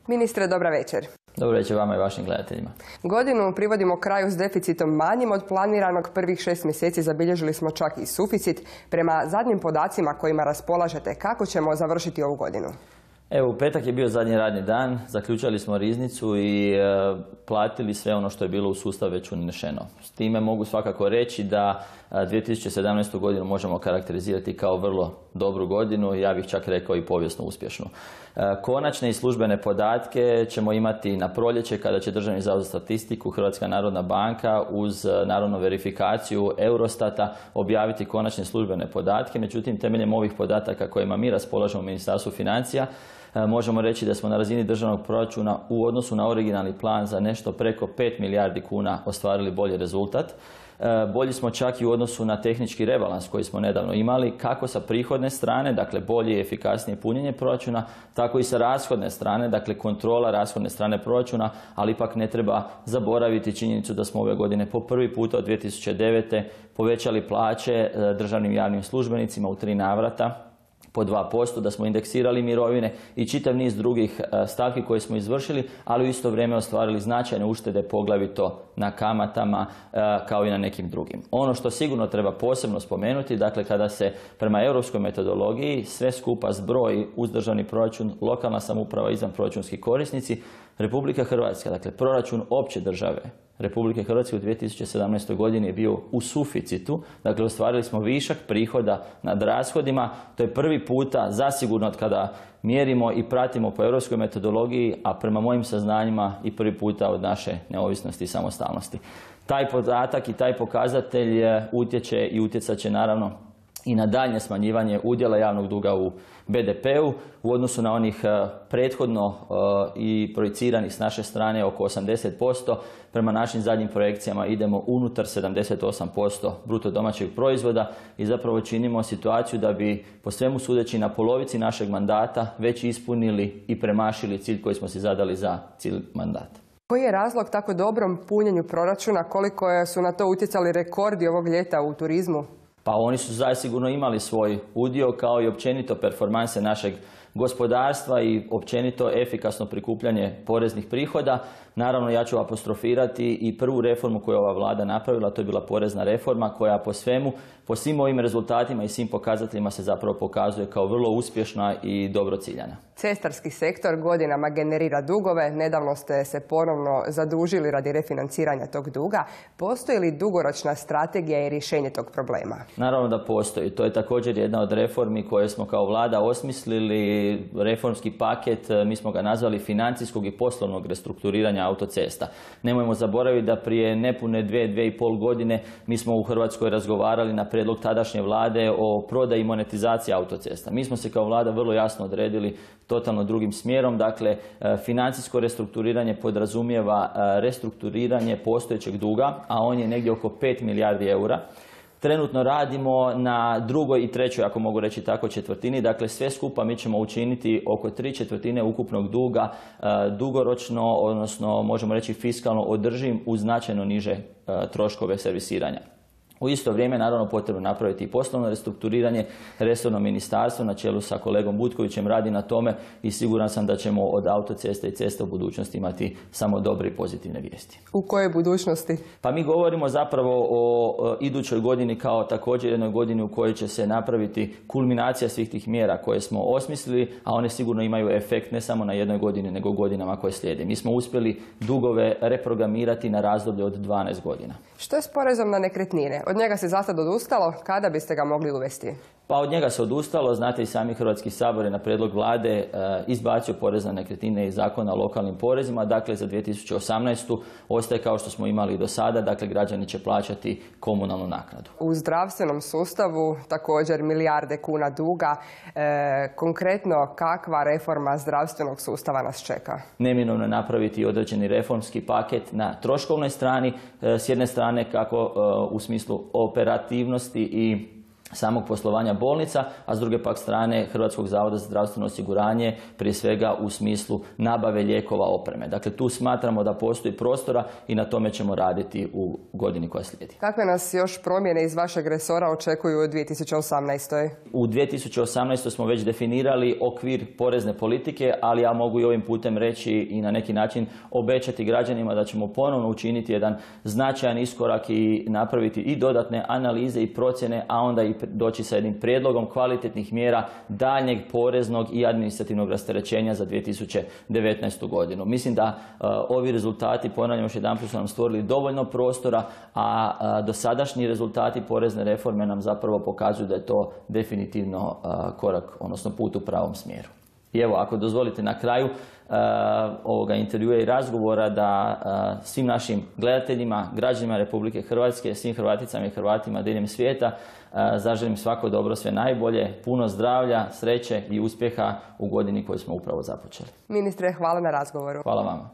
Ministre, dobra večer. Dobro večer vama i vašim gledateljima. Godinu privodimo kraju s deficitom manjim od planiranog. Prvih 6 mjeseci zabilježili smo čak i suficit. Prema zadnjim podacima kojima raspolažete, kako ćemo završiti ovu godinu? Evo, u petak je bio zadnji radni dan, zaključali smo riznicu i platili sve ono što je bilo u sustav već unešeno. S time mogu svakako reći da 2017. godinu možemo karakterizirati kao vrlo dobru godinu, ja bih čak rekao i povijesno uspješnu. Konačne i službene podatke ćemo imati na proljeće kada će Državni zavod za statistiku, Hrvatska narodna banka uz naravno verifikaciju Eurostata objaviti konačne službene podatke. Međutim, temeljem ovih podataka kojima mi raspolažemo u Ministarstvu financija, možemo reći da smo na razini državnog proračuna u odnosu na originalni plan za nešto preko 5 milijardi kuna ostvarili bolji rezultat. Bolji smo čak i u odnosu na tehnički rebalans koji smo nedavno imali, kako sa prihodne strane, dakle bolje i efikasnije punjenje proračuna, tako i sa rashodne strane, dakle kontrola rashodne strane proračuna, ali ipak ne treba zaboraviti činjenicu da smo ove godine po prvi puta od 2009. povećali plaće državnim javnim službenicima u 3 navrata po 2%, da smo indeksirali mirovine i čitav niz drugih stavki koje smo izvršili, ali u isto vrijeme ostvarili značajne uštede, poglavito na kamatama kao i na nekim drugim. Ono što sigurno treba posebno spomenuti, dakle kada se prema europskoj metodologiji sve skupa zbroji uz državni proračun, lokalna samouprava, izvanproračunski korisnici, Republika Hrvatska, dakle proračun opće države Republike Hrvatske u 2017. godini je bio u suficitu, dakle ostvarili smo višak prihoda nad rashodima. To je prvi puta zasigurno od kada mjerimo i pratimo po europskoj metodologiji, a prema mojim saznanjima i prvi puta od naše neovisnosti i samostalnosti. Taj podatak i taj pokazatelj utječe i utjecat će naravno i na daljnje smanjivanje udjela javnog duga u BDP-u u odnosu na onih prethodno i projiciranih s naše strane oko 80%. Prema našim zadnjim projekcijama idemo unutar 78% bruto domaćeg proizvoda i zapravo činimo situaciju da bi po svemu sudeći na polovici našeg mandata već ispunili i premašili cilj koji smo si zadali za cilj mandata. Koji je razlog tako dobrom punjenju proračuna? Koliko su na to utjecali rekordi ovog ljeta u turizmu? Pa oni su zasigurno imali svoj udio kao i općenito performanse našeg gospodarstva i općenito efikasno prikupljanje poreznih prihoda. Naravno, ja ću apostrofirati i prvu reformu koju je ova vlada napravila, to je bila porezna reforma koja po svim ovim rezultatima i svim pokazateljima se zapravo pokazuje kao vrlo uspješna i dobro ciljana. Cestarski sektor godinama generira dugove. Nedavno ste se ponovno zadužili radi refinanciranja tog duga. Postoji li dugoročna strategija i rješenje tog problema? Naravno da postoji. To je također jedna od reformi koje smo kao vlada osmislili. Reformski paket, mi smo ga nazvali financijskog i poslovnog restrukturiranja autocesta. Nemojmo zaboraviti da prije nepune 2,5 godine mi smo u Hrvatskoj razgovarali na prijedlog tadašnje vlade o prodaji i monetizaciji autocesta. Mi smo se kao vlada vrlo jasno odredili totalno drugim smjerom. Dakle, financijsko restrukturiranje podrazumijeva restrukturiranje postojećeg duga, a on je negdje oko 5 milijardi eura. Trenutno radimo na drugoj i trećoj, ako mogu reći tako, četvrtini. Dakle, sve skupa mi ćemo učiniti oko 3/4 ukupnog duga dugoročno, odnosno možemo reći fiskalno održivim uz značajno niže troškove servisiranja. U isto vrijeme, naravno, potrebno napraviti i poslovno restrukturiranje. Resorno ministarstvo na čelu sa kolegom Butkovićem radi na tome i siguran sam da ćemo od autoceste i ceste u budućnosti imati samo dobre i pozitivne vijesti. U kojoj budućnosti? Pa mi govorimo zapravo o idućoj godini kao također jednoj godini u kojoj će se napraviti kulminacija svih tih mjera koje smo osmislili, a one sigurno imaju efekt ne samo na jednoj godini, nego godinama koje slijede. Mi smo uspjeli dugove reprogramirati na razdoblje od 12 godina. Što je s porezom na nekretnine? Od njega se zasad odustalo, kada biste ga mogli uvesti? Pa od njega se odustalo, znate i sami Hrvatski sabor je na prijedlog vlade izbacio porez na nekretnine iz Zakona o lokalnim porezima, dakle za 2018. ostaje kao što smo imali i do sada, dakle građani će plaćati komunalnu naknadu. U zdravstvenom sustavu također milijarde kuna duga. Konkretno, kakva reforma zdravstvenog sustava nas čeka? Neminovno je napraviti određeni reformski paket na troškovnoj strani, s jedne strane kako u smislu operativnosti i samog poslovanja bolnica, a s druge pak strane Hrvatskog zavoda za zdravstveno osiguranje, prije svega u smislu nabave lijekova, opreme. Dakle, tu smatramo da postoji prostora i na tome ćemo raditi u godini koja slijedi. Kakve nas još promjene iz vašeg resora očekuju u 2018. U 2018. smo već definirali okvir porezne politike, ali ja mogu i ovim putem reći i na neki način obećati građanima da ćemo ponovno učiniti jedan značajan iskorak i napraviti i dodatne analize i procjene, a onda i doći sa jednim prijedlogom kvalitetnih mjera daljnjeg poreznog i administrativnog rasterećenja za 2019. godinu. Mislim da ovi rezultati, ponavljam još jedanput, su nam stvorili dovoljno prostora, a dosadašnji rezultati porezne reforme nam zapravo pokazuju da je to definitivno korak, odnosno put u pravom smjeru. I evo, ako dozvolite na kraju ovoga intervjua i razgovora da svim našim gledateljima, građanima Republike Hrvatske, svim Hrvaticama i Hrvatima diljem svijeta zaželim svako dobro, sve najbolje, puno zdravlja, sreće i uspjeha u godini koju smo upravo započeli. Ministre, hvala na razgovoru. Hvala vama.